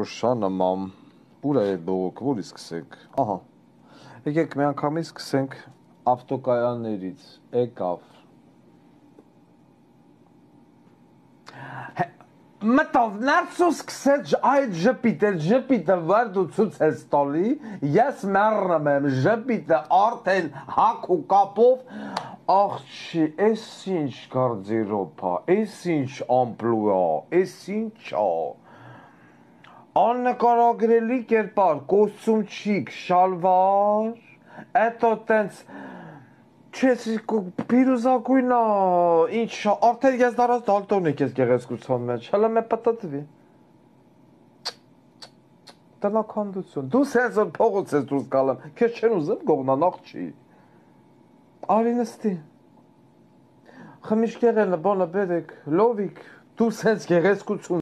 Ուշանը մամ, ուր է այդ բողոք, որի սկսենք, ահա, եկեք մի անգամից սկսենք ավտոկայաններից, եկավ, մտով ներս ու սկսեց այդ ժպիտը վարդ ու ցույց ես տալի, ես մեռնում եմ ժպիտը արդեն հակ ու կապով, աղջի, ես ինչ գարդերոպ ա, ես ինչ ամպլուա, ես ինչ ա, աննկարագրելի կերպար, կոստյումչիկ, շալվար, էտո տենց, չես պիրուզակույնա, ինչ, արդեն ես դարած դալտոնիկ ես գեղեցկության մեջ, հլը մե պտտվի, տնաքանդություն, դու սենց որ փողոց ես դուրս կալեմ, կեզ չեն ուզեմ գողնան աղջի, արի նստի, խմիշ կեղելը, բոնը բերեք, լովիկ, դու սենց գեղեցկություն